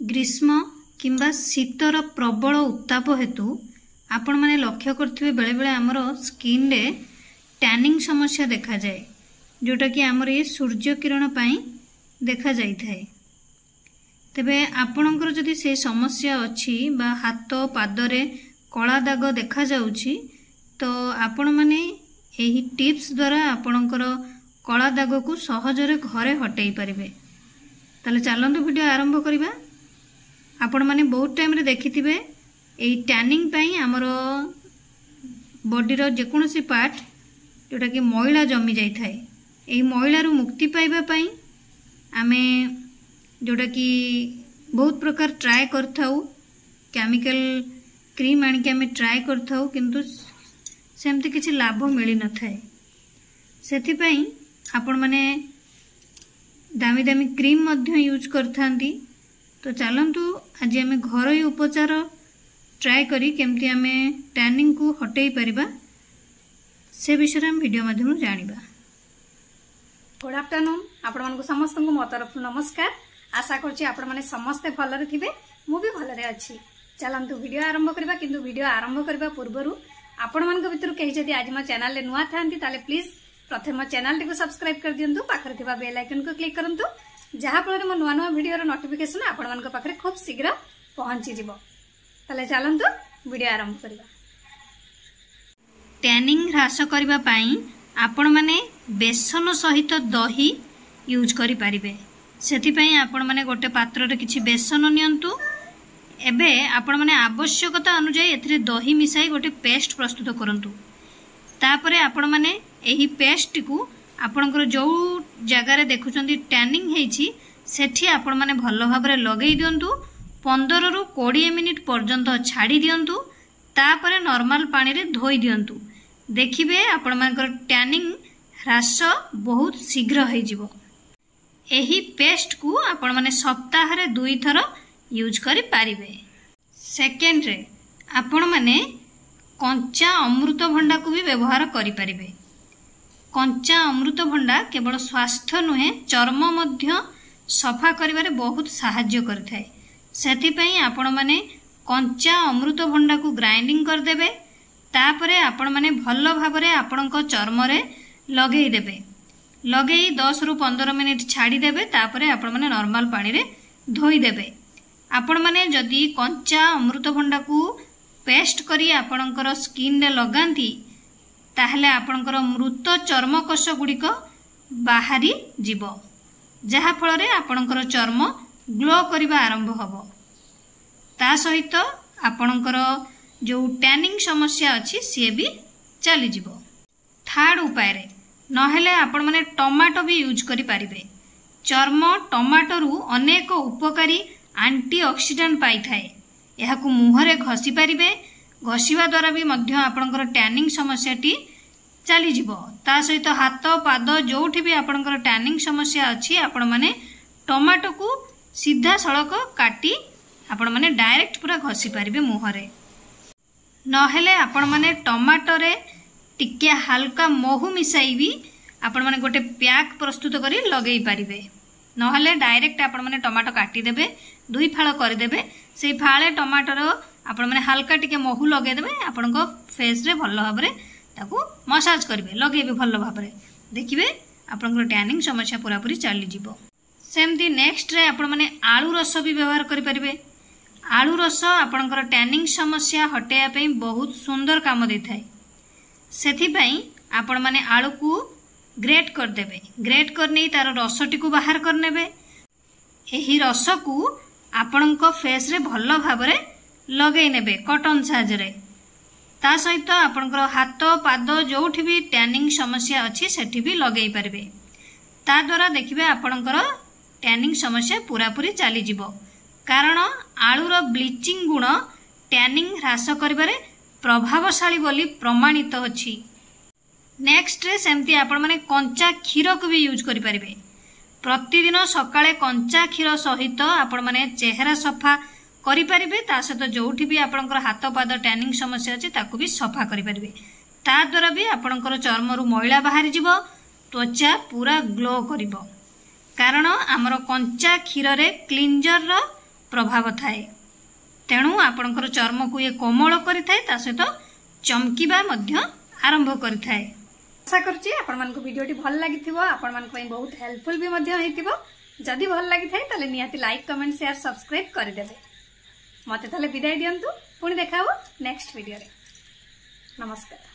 ଗ୍ରୀଷ୍ମ କିମ୍ବା ଶୀତର ପ୍ରବଳ ଉତ୍ତାପ ହେତୁ ଆପଣମାନେ ଲକ୍ଷ୍ୟ କରିଥିବେ, ବେଳେବେଳେ ଆମର ସ୍କିନ୍ରେ ଟ୍ୟାନିଂ ସମସ୍ୟା ଦେଖାଯାଏ, ଯେଉଁଟାକି ଆମର ଏ ସୂର୍ଯ୍ୟ କିରଣ ପାଇଁ ଦେଖାଯାଇଥାଏ। ତେବେ ଆପଣଙ୍କର ଯଦି ସେ ସମସ୍ୟା ଅଛି ବା ହାତ ପାଦରେ କଳା ଦାଗ ଦେଖାଯାଉଛି, ତ ଆପଣମାନେ ଏହି ଟିପ୍ସ ଦ୍ୱାରା ଆପଣଙ୍କର କଳା ଦାଗକୁ ସହଜରେ ଘରେ ହଟେଇ ପାରିବେ। ତାହେଲେ ଚାଲନ୍ତୁ ଭିଡ଼ିଓ ଆରମ୍ଭ କରିବା। ଆପଣମାନେ ବହୁତ ଟାଇମ୍ରେ ଦେଖିଥିବେ, ଏଇ ଟ୍ୟାନିଂ ପାଇଁ ଆମର ବଡ଼ିର ଯେକୌଣସି ପାର୍ଟ ଯେଉଁଟାକି ମଇଳା ଜମି ଯାଇଥାଏ। ଏହି ମଇଳାରୁ ମୁକ୍ତି ପାଇବା ପାଇଁ ଆମେ ଯେଉଁଟାକି ବହୁତ ପ୍ରକାର ଟ୍ରାଏ କରିଥାଉ, କେମିକାଲ କ୍ରିମ୍ ଆଣିକି ଆମେ ଟ୍ରାଏ କରିଥାଉ, କିନ୍ତୁ ସେମିତି କିଛି ଲାଭ ମିଳିନଥାଏ। ସେଥିପାଇଁ ଆପଣମାନେ ଦାମୀ ଦାମୀ କ୍ରିମ୍ ମଧ୍ୟ ୟୁଜ୍ କରିଥାନ୍ତି। ତ ଚାଲନ୍ତୁ ଆଜି ଆମେ ଘରୋଇ ଉପଚାର ଟ୍ରାଏ କରି କେମିତି ଆମେ ଟ୍ୟାନିଂକୁ ହଟେଇ ପାରିବା, ସେ ବିଷୟରେ ଆମେ ଭିଡ଼ିଓ ମାଧ୍ୟମରୁ ଜାଣିବା। ଗୁଡ୍ ଆଫ୍ଟରନୁନ୍, ଆପଣମାନଙ୍କୁ ସମସ୍ତଙ୍କୁ ମୋ ତରଫରୁ ନମସ୍କାର। ଆଶା କରୁଛି ଆପଣମାନେ ସମସ୍ତେ ଭଲରେ ଥିବେ, ମୁଁ ବି ଭଲରେ ଅଛି। ଚାଲନ୍ତୁ ଭିଡ଼ିଓ ଆରମ୍ଭ କରିବା। କିନ୍ତୁ ଭିଡ଼ିଓ ଆରମ୍ଭ କରିବା ପୂର୍ବରୁ ଆପଣମାନଙ୍କ ଭିତରୁ କେହି ଯଦି ଆଜି ମୋ ଚ୍ୟାନେଲରେ ନୂଆ ଥାନ୍ତି, ତାହେଲେ ପ୍ଲିଜ୍ ପ୍ରଥମେ ମୋ ଚ୍ୟାନେଲଟିକୁ ସବସ୍କ୍ରାଇବ୍ କରିଦିଅନ୍ତୁ, ପାଖରେ ଥିବା ବେଲ୍ ଆଇକନ୍କୁ କ୍ଲିକ୍ କରନ୍ତୁ, ଯାହାଫଳରେ ମୋ ନୂଆ ନୂଆ ଭିଡ଼ିଓର ନୋଟିଫିକେସନ୍ ଆପଣମାନଙ୍କ ପାଖରେ ଖୁବ୍ ଶୀଘ୍ର ପହଞ୍ଚିଯିବ। ତାହେଲେ ଚାଲନ୍ତୁ ଭିଡ଼ିଓ ଆରମ୍ଭ କରିବା। ଟ୍ୟାନିଂ ହ୍ରାସ କରିବା ପାଇଁ ଆପଣମାନେ ବେସନ ସହିତ ଦହି ୟୁଜ୍ କରିପାରିବେ। ସେଥିପାଇଁ ଆପଣମାନେ ଗୋଟେ ପାତ୍ରରେ କିଛି ବେସନ ନିଅନ୍ତୁ। ଏବେ ଆପଣମାନେ ଆବଶ୍ୟକତା ଅନୁଯାୟୀ ଏଥିରେ ଦହି ମିଶାଇ ଗୋଟେ ପେଷ୍ଟ ପ୍ରସ୍ତୁତ କରନ୍ତୁ। ତାପରେ ଆପଣମାନେ ଏହି ପେଷ୍ଟଟିକୁ ଆପଣଙ୍କର ଯେଉଁ ଜାଗାରେ ଦେଖୁଛନ୍ତି ଟ୍ୟାନିଂ ହେଇଛି, ସେଠି ଆପଣମାନେ ଭଲ ଭାବରେ ଲଗେଇ ଦିଅନ୍ତୁ। 15ରୁ 20 ମିନିଟ୍ ପର୍ଯ୍ୟନ୍ତ ଛାଡ଼ି ଦିଅନ୍ତୁ, ତାପରେ ନର୍ମାଲ ପାଣିରେ ଧୋଇ ଦିଅନ୍ତୁ। ଦେଖିବେ ଆପଣମାନଙ୍କର ଟ୍ୟାନିଂ ହ୍ରାସ ବହୁତ ଶୀଘ୍ର ହେଇଯିବ। ଏହି ପେଷ୍ଟକୁ ଆପଣମାନେ ସପ୍ତାହରେ 2ଥର ୟୁଜ୍ କରିପାରିବେ। ସେକେଣ୍ଡରେ ଆପଣମାନେ କଞ୍ଚା ଅମୃତଭଣ୍ଡାକୁ ବି ବ୍ୟବହାର କରିପାରିବେ। କଞ୍ଚା ଅମୃତଭଣ୍ଡା କେବଳ ସ୍ୱାସ୍ଥ୍ୟ ନୁହେଁ, ଚର୍ମ ମଧ୍ୟ ସଫା କରିବାରେ ବହୁତ ସାହାଯ୍ୟ କରିଥାଏ। ସେଥିପାଇଁ ଆପଣମାନେ କଞ୍ଚା ଅମୃତଭଣ୍ଡାକୁ ଗ୍ରାଇଣ୍ଡିଂ କରିଦେବେ, ତାପରେ ଆପଣମାନେ ଭଲ ଭାବରେ ଆପଣଙ୍କ ଚର୍ମରେ ଲଗେଇଦେବେ। ଲଗେଇ 10ରୁ 15 ମିନିଟ୍ ଛାଡ଼ିଦେବେ, ତାପରେ ଆପଣମାନେ ନର୍ମାଲ ପାଣିରେ ଧୋଇଦେବେ। ଆପଣମାନେ ଯଦି କଞ୍ଚା ଅମୃତଭଣ୍ଡାକୁ ପେଷ୍ଟ କରି ଆପଣଙ୍କର ସ୍କିନ୍ରେ ଲଗାନ୍ତି, ତାହେଲେ ଆପଣଙ୍କର ମୃତ ଚର୍ମକୋଷ ଗୁଡ଼ିକ ବାହାରି ଯିବ, ଯାହାଫଳରେ ଆପଣଙ୍କର ଚର୍ମ ଗ୍ଲୋ କରିବା ଆରମ୍ଭ ହେବ। ତା ସହିତ ଆପଣଙ୍କର ଯେଉଁ ଟ୍ୟାନିଂ ସମସ୍ୟା ଅଛି, ସିଏ ବି ଚାଲିଯିବ। ଥାର୍ଡ଼ ଉପାୟରେ ନହେଲେ ଆପଣମାନେ ଟମାଟୋ ବି ୟୁଜ୍ କରିପାରିବେ। ଚର୍ମ ଟମାଟୋରୁ ଅନେକ ଉପକାରୀ ଆଣ୍ଟି ଅକ୍ସିଡାଣ୍ଟ ପାଇଥାଏ। ଏହାକୁ ମୁହଁରେ ଘଷି ପାରିବେ। ଘଷିବା ଦ୍ୱାରା ବି ମଧ୍ୟ ଆପଣଙ୍କର ଟ୍ୟାନିଂ ସମସ୍ୟାଟି ଚାଲିଯିବ। ତା ସହିତ ହାତ ପାଦ ଯେଉଁଠି ବି ଆପଣଙ୍କର ଟ୍ୟାନିଂ ସମସ୍ୟା ଅଛି, ଆପଣମାନେ ଟମାଟୋକୁ ସିଧାସଳଖ କାଟି ଆପଣମାନେ ଡାଇରେକ୍ଟ ପୁରା ଘଷି ପାରିବେ ମୁହଁରେ। ନହେଲେ ଆପଣମାନେ ଟମାଟୋରେ ଟିକେ ହାଲକା ମହୁ ମିଶାଇ ବି ଆପଣମାନେ ଗୋଟେ ପ୍ୟାକ୍ ପ୍ରସ୍ତୁତ କରି ଲଗେଇ ପାରିବେ। ନହେଲେ ଡାଇରେକ୍ଟ ଆପଣମାନେ ଟମାଟୋ କାଟିଦେବେ, 2 ଫାଳ କରିଦେବେ, ସେଇ ଫାଳେ ଟମାଟୋର ଆପଣମାନେ ହାଲକା ଟିକେ ମହୁ ଲଗେଇଦେବେ ଆପଣଙ୍କ ଫେସ୍ରେ, ଭଲ ଭାବରେ ତାକୁ ମସାଜ କରିବେ, ଲଗେଇବେ ଭଲ ଭାବରେ, ଦେଖିବେ ଆପଣଙ୍କର ଟ୍ୟାନିଂ ସମସ୍ୟା ପୁରାପୁରି ଚାଲିଯିବ। ସେମିତି ନେକ୍ସଟରେ ଆପଣମାନେ ଆଳୁ ରସ ବି ବ୍ୟବହାର କରିପାରିବେ। ଆଳୁ ରସ ଆପଣଙ୍କର ଟ୍ୟାନିଂ ସମସ୍ୟା ହଟେଇବା ପାଇଁ ବହୁତ ସୁନ୍ଦର କାମ ଦେଇଥାଏ। ସେଥିପାଇଁ ଆପଣମାନେ ଆଳୁକୁ ଗ୍ରେଟ୍ କରିଦେବେ, ଗ୍ରେଟ୍ କରିନେଇ ତାର ରସଟିକୁ ବାହାର କରିନେବେ। ଏହି ରସକୁ ଆପଣଙ୍କ ଫେସ୍ରେ ଭଲ ଭାବରେ ଲଗେଇ ନେବେ କଟନ୍ ସାହାଯ୍ୟରେ। ତା ସହିତ ଆପଣଙ୍କର ହାତ ପାଦ ଯେଉଁଠି ବି ଟ୍ୟାନିଂ ସମସ୍ୟା ଅଛି, ସେଠି ବି ଲଗେଇ ପାରିବେ। ତା ଦ୍ୱାରା ଦେଖିବେ ଆପଣଙ୍କର ଟ୍ୟାନିଂ ସମସ୍ୟା ପୁରାପୁରି ଚାଲିଯିବ, କାରଣ ଆଳୁର ବ୍ଲିଚିଂ ଗୁଣ ଟ୍ୟାନିଂ ହ୍ରାସ କରିବାରେ ପ୍ରଭାବଶାଳୀ ବୋଲି ପ୍ରମାଣିତ ଅଛି। ନେକ୍ସଟରେ ସେମିତି ଆପଣମାନେ କଞ୍ଚା କ୍ଷୀରକୁ ବି ୟୁଜ୍ କରିପାରିବେ। ପ୍ରତିଦିନ ସକାଳେ କଞ୍ଚା କ୍ଷୀର ସହିତ ଆପଣମାନେ ଚେହେରା ସଫା କରିପାରିବେ। ତା ସହିତ ଯେଉଁଠି ବି ଆପଣଙ୍କର ହାତ ପାଦ ଟ୍ୟାନିଂ ସମସ୍ୟା ଅଛି, ତାକୁ ବି ସଫା କରିପାରିବେ। ତା ଦ୍ୱାରା ବି ଆପଣଙ୍କର ଚର୍ମରୁ ମଇଳା ବାହାରିଯିବ, ତ୍ୱଚା ପୁରା ଗ୍ଲୋ କରିବ, କାରଣ ଆମର କଞ୍ଚା କ୍ଷୀରରେ କ୍ଲିଞ୍ଜରର ପ୍ରଭାବ ଥାଏ। ତେଣୁ ଆପଣଙ୍କର ଚର୍ମକୁ ଇଏ କୋମଳ କରିଥାଏ, ତା ସହିତ ଚମକିବା ମଧ୍ୟ ଆରମ୍ଭ କରିଥାଏ। ଆଶା କରୁଛି ଆପଣମାନଙ୍କୁ ଭିଡ଼ିଓଟି ଭଲ ଲାଗିଥିବ, ଆପଣମାନଙ୍କ ପାଇଁ ବହୁତ ହେଲ୍ପଫୁଲ୍ ବି ମଧ୍ୟ ହେଇଥିବ। ଯଦି ଭଲ ଲାଗିଥାଏ ତାହେଲେ ନିହାତି ଲାଇକ୍, କମେଣ୍ଟ, ସେୟାର, ସବସ୍କ୍ରାଇବ୍ କରିଦେବେ। ମୋତେ ତାହେଲେ ବିଦାୟ ଦିଅନ୍ତୁ, ପୁଣି ଦେଖା ହେବ ନେକ୍ସଟ ଭିଡ଼ିଓରେ। ନମସ୍କାର।